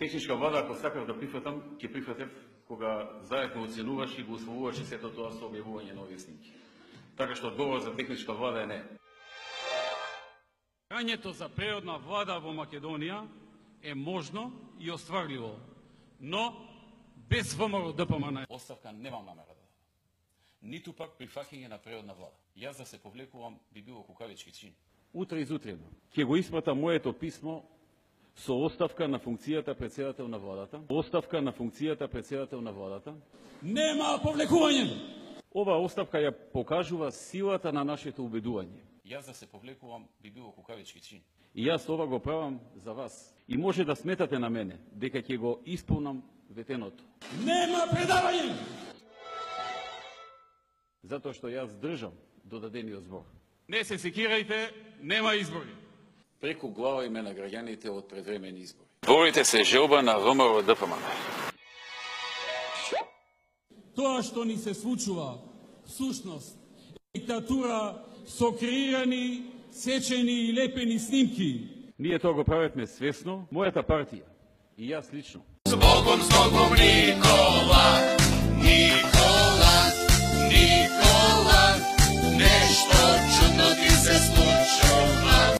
Техничка влада, ако сакав да прифатам, ќе прифатев кога заедно оценуваш и го усвоуваше сето тоа со објавување на овие снимки. Така што одговор за техничка влада е не. Прањето за природна влада во Македонија е можно и остварливо, но без ВМРО ДПМН. Оставка немам намера да дадам. Ниту пак прифаќање на природна влада. Јас да се повлекувам би било кукавички чин. Утре изутрено ќе го испратам моето писмо со оставка на функцијата претседател на владата. Оставка на функцијата претседател на владата. Нема повлекување. Ова оставка ја покажува силата на нашето убедување. Јас да се повлекувам би било кукавички чин. И јас ова го правам за вас. И може да сметате на мене дека ќе го исполнам ветеното. Нема предавање. Затоа што јас држам до дадениот збор. Не се секирајте, нема избори. Преку глава име на граѓаните од предвремени избори. Борите се желба на ВМРО ДПМН. Тоа што ни се случува, всушност, диктатура со креирани, сечени и лепени снимки. Ние тоа го правевме свесно, мојата партија и јас лично. С Богом, Никола!